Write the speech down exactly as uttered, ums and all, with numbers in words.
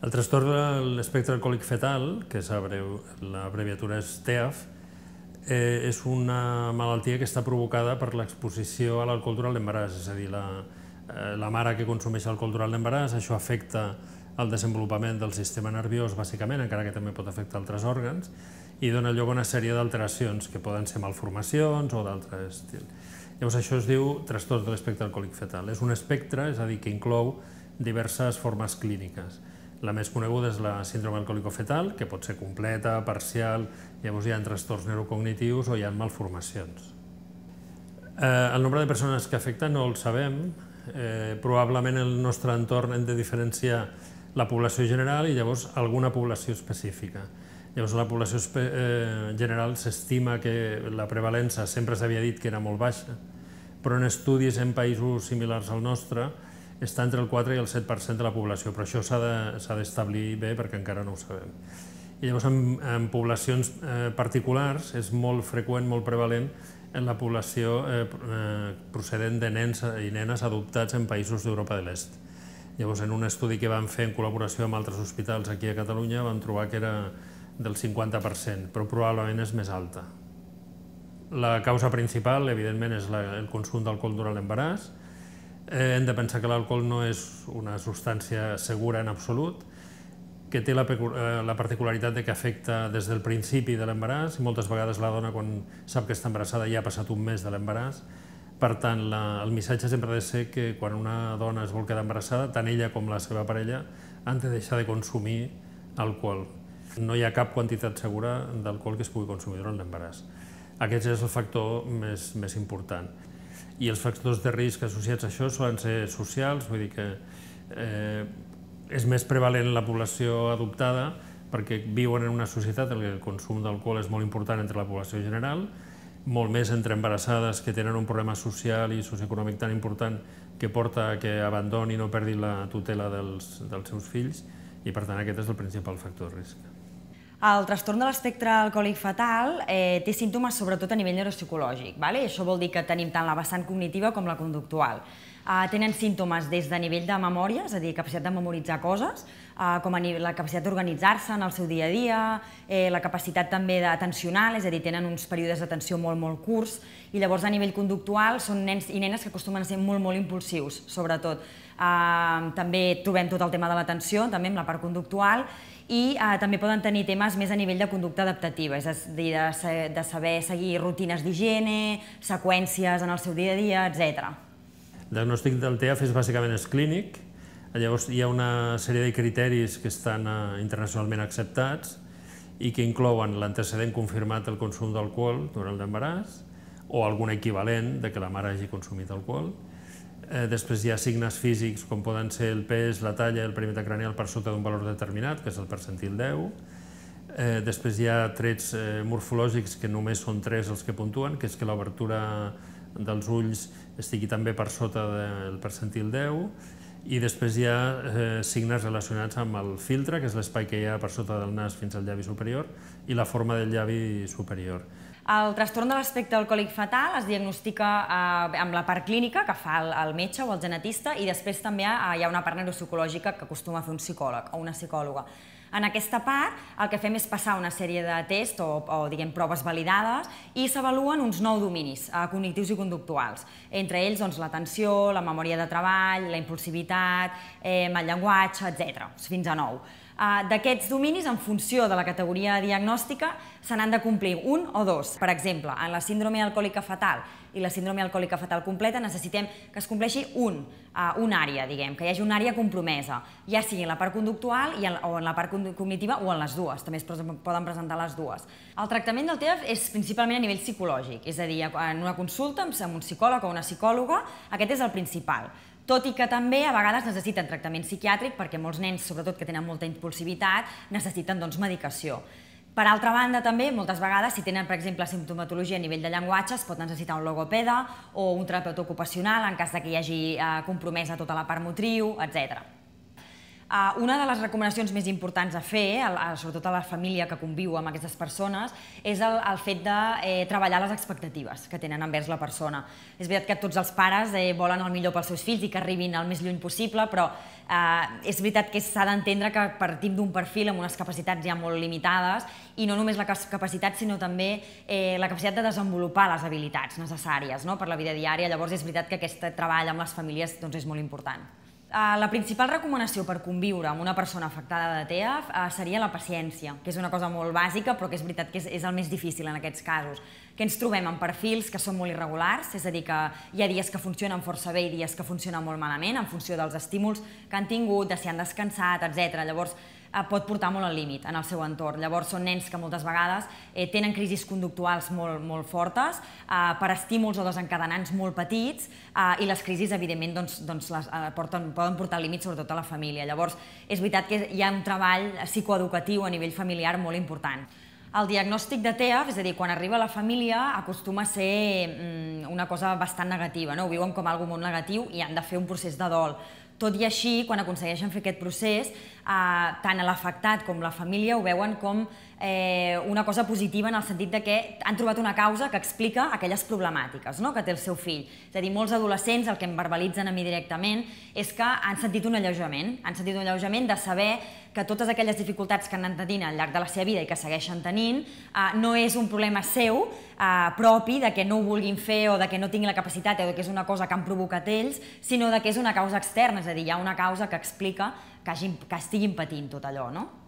El trastorn de l'espectre alcohòlic fetal, que l'abreviatura és T E A F, és una malaltia que està provocada per l'exposició a l'alcohol durant l'embaràs, és a dir, la mare que consumeix alcohol durant l'embaràs, això afecta el desenvolupament del sistema nerviós, bàsicament, encara que també pot afectar altres òrgans, i dona lloc a una sèrie d'alteracions, que poden ser malformacions o d'altre estil. Llavors, això es diu trastorn de l'espectre alcohòlic fetal. És un espectre, és a dir, que inclou diverses formes clíniques. La més coneguda és la síndrome alcohòlico-fetal, que pot ser completa, parcial, llavors hi ha trastorns neurocognitius o hi ha malformacions. El nombre de persones que afecta no el sabem. Probablement en el nostre entorn hem de diferenciar la població general i llavors alguna població específica. Llavors, la població general s'estima que la prevalença sempre s'havia dit que era molt baixa, però en estudis en països similars al nostre està entre el quatre i el set per cent de la població, però això s'ha d'establir bé perquè encara no ho sabem. I llavors, en poblacions particulars és molt freqüent, molt prevalent en la població procedent de nens i nenes adoptats en països d'Europa de l'Est. Llavors, en un estudi que vam fer en col·laboració amb altres hospitals aquí a Catalunya, vam trobar que era del cinquanta per cent, però probablement és més alta. La causa principal, evidentment, és el consum d'alcohol durant l'embaràs. Hem de pensar que l'alcohol no és una substància segura en absolut, que té la particularitat que afecta des del principi de l'embaràs, i moltes vegades la dona, quan sap que està embarassada, ja ha passat un mes de l'embaràs. Per tant, el missatge sempre ha de ser que quan una dona es vol quedar embarassada, tant ella com la seva parella han de deixar de consumir alcohol. No hi ha cap quantitat segura d'alcohol que es pugui consumir durant l'embaràs. Aquest és el factor més important. I els factors de risc associats a això solen ser socials, vull dir que és més prevalent en la població adoptada perquè viuen en una societat en què el consum d'alcohol és molt important entre la població general, molt més entre embarassades que tenen un problema social i socioeconòmic tan important que porta a que abandonin o perdin la tutela dels seus fills, i per tant aquest és el principal factor de risc. El trastorn de l'espectre alcohòlic fetal té símptomes sobretot a nivell neuropsicològic. Això vol dir que tenim tant la vessant cognitiva com la conductual. Tenen símptomes des de nivell de memòria, és a dir, capacitat de memoritzar coses, com la capacitat d'organitzar-se en el seu dia a dia, la capacitat també d'atencional, és a dir, tenen uns períodes d'atenció molt, molt curts, i llavors a nivell conductual són nens i nenes que acostumen a ser molt, molt impulsius, sobretot. També trobem tot el tema de l'atenció, també amb la part conductual, i també poden tenir temes més a nivell de conducta adaptativa, és a dir, de saber seguir rutines d'higiene, seqüències en el seu dia a dia, etcètera. El diagnòstic del T E A F és bàsicament clínic, llavors hi ha una sèrie de criteris que estan internacionalment acceptats i que inclouen l'antecedent confirmat del consum d'alcohol durant l'embaràs o algun equivalent de que la mare hagi consumit alcohol. Després hi ha signes físics com poden ser el pes, la talla, el perímetre cranial per sota d'un valor determinat, que és el percentil deu. Després hi ha trets morfològics que només són tres els que puntuen, que és que l'obertura dels ulls estigui també per sota del percentil deu, i després hi ha signes relacionats amb el filtre, que és l'espai que hi ha per sota del nas fins al llavi superior, i la forma del llavi superior. El trastorn de l'espectre alcohòlic fetal es diagnostica amb la part clínica que fa el metge o el genetista, i després també hi ha una part neuropsicològica que acostuma a fer un psicòleg o una psicòloga. En aquesta part el que fem és passar una sèrie de tests o diguem proves validades i s'avaluen uns nou dominis cognitius i conductuals, entre ells l'atenció, la memòria de treball, la impulsivitat, el llenguatge, etcètera, fins a nou. D'aquests dominis, en funció de la categoria diagnòstica, se n'han de complir un o dos. Per exemple, en la síndrome alcohòlica fetal i la síndrome alcohòlica fetal completa necessitem que es compleixi una àrea, diguem, que hi hagi una àrea compromesa, ja sigui en la part conductual o en la part cognitiva o en les dues, també es poden presentar les dues. El tractament del T E A F és principalment a nivell psicològic, és a dir, en una consulta amb un psicòleg o una psicòloga, aquest és el principal. Tot i que també a vegades necessiten tractament psiquiàtric perquè molts nens, sobretot que tenen molta impulsivitat, necessiten medicació. Per altra banda, també, moltes vegades, si tenen, per exemple, simptomatologia a nivell de llenguatge, es pot necessitar un logopeda o un terapeuta ocupacional en cas que hi hagi compromesa tota la part motriu, etcètera. Una de les recomanacions més importants a fer, sobretot a la família que conviu amb aquestes persones, és el fet de treballar les expectatives que tenen envers la persona. És veritat que tots els pares volen el millor pels seus fills i que arribin el més lluny possible, però és veritat que s'ha d'entendre que partim d'un perfil amb unes capacitats ja molt limitades, i no només la capacitat, sinó també la capacitat de desenvolupar les habilitats necessàries per la vida diària. Llavors és veritat que aquest treball amb les famílies és molt important. La principal recomanació per conviure amb una persona afectada de T E A F seria la paciència, que és una cosa molt bàsica, però que és veritat que és el més difícil en aquests casos. Que ens trobem amb perfils que són molt irregulars, és a dir, que hi ha dies que funcionen força bé i dies que funcionen molt malament, en funció dels estímuls que han tingut, de si han descansat, etcètera. Llavors, pot portar molt al límit en el seu entorn. Llavors, són nens que moltes vegades tenen crisis conductuals molt fortes per estímuls o desencadenants molt petits, i les crisis, evidentment, poden portar al límit, sobretot a la família. Llavors, és veritat que hi ha un treball psicoeducatiu a nivell familiar molt important. El diagnòstic de T E A F, és a dir, quan arriba a la família, acostuma a ser una cosa bastant negativa. Ho viuen com alguna cosa molt negatiu i han de fer un procés de dol. Tot i així, quan aconsegueixen fer aquest procés, tant l'afectat com la família ho veuen com una cosa positiva en el sentit que han trobat una causa que explica aquelles problemàtiques que té el seu fill. És a dir, molts adolescents el que em verbalitzen a mi directament és que han sentit un alleujament, han sentit un alleujament de saber que totes aquelles dificultats que han anat tenint al llarg de la seva vida i que segueixen tenint no és un problema seu, propi, de que no ho vulguin fer o de que no tinguin la capacitat o que és una cosa que han provocat ells, sinó que és una causa externa, és a dir, hi ha una causa que explica que estiguin patint tot allò, no?